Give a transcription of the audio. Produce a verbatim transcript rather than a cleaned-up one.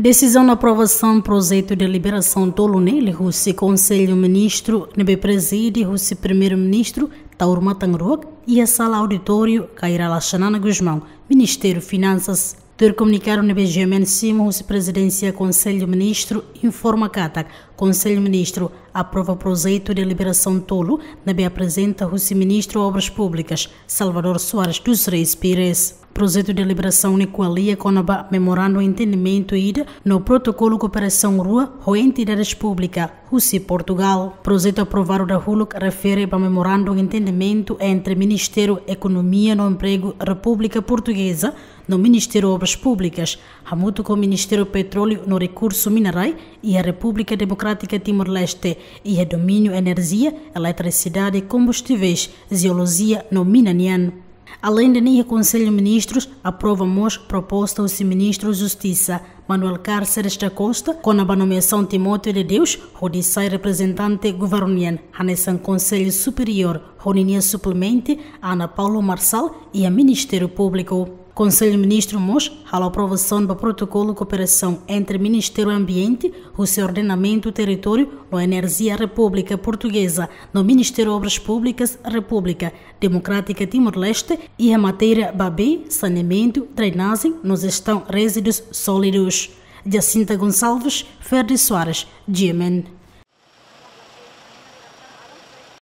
Desizaun aprovasaun projetu deliberasaun tolu ne'e liuhusi Konsellu Ministru ne'ebé prezide husi Primeiru-Ministru Taur Matan Ruak iha sala auditóriu Kay Rala Xanana Gusmão, Ministru Finansas. Tuir komunikadu ne'ebé GMN simu husi Prezidénsia Konsellu Ministru informa katak Konsellu Ministru aprova projetu deliberasaun tolu ne'ebé aprezenta husi Ministru Obras Públikas, Salvador Soares dos Reis Pires. Projetu deliberasaun ne'e ko'alia kona-ba memorandu entendimentu ida no protokolu kooperasaun rua ho entidades públikas husi Portugal. Projetu aprovadu dahuluk refere ba memorandu entendimentu entre Ministériu Ekonomia no Empregu Repúblika Portugeza no Ministériu Obras Públikas, hamutuk ho Ministériu Petróleu no Rekursu Minerais iha Repúblika Demokrátika Timor-Leste, iha domíniu enerjia, eletrisidade, kombustíveis, jeolojia no mina nian. Aleinde ne'e, Konsellu Ministrus aprova mós proposta husi Ministru Justisa, Manuel Cárceres da Costa, kona-ba nomeasaun Timóteo de Deus hodi sai reprezentante governu nian hanesan Konsellu Superiór, ho ninia suplemente Ana Paula Marçal iha Ministériu Públiku. Konsellu Ministru mós halo aprovasaun ba protokolu kooperasaun entre Ministériu Ambiente, husi Ordenamentu Territóriu no Enerjia Repúblika Portugeza, no Ministériu Obras Públikas Repúblika Demokrátika Timor-Leste, iha matéria ba bee, saneamentu, drenajen no jestaun rezíduus sólidus. Jacinta Gonçalves, Ferdi Soares, GMN.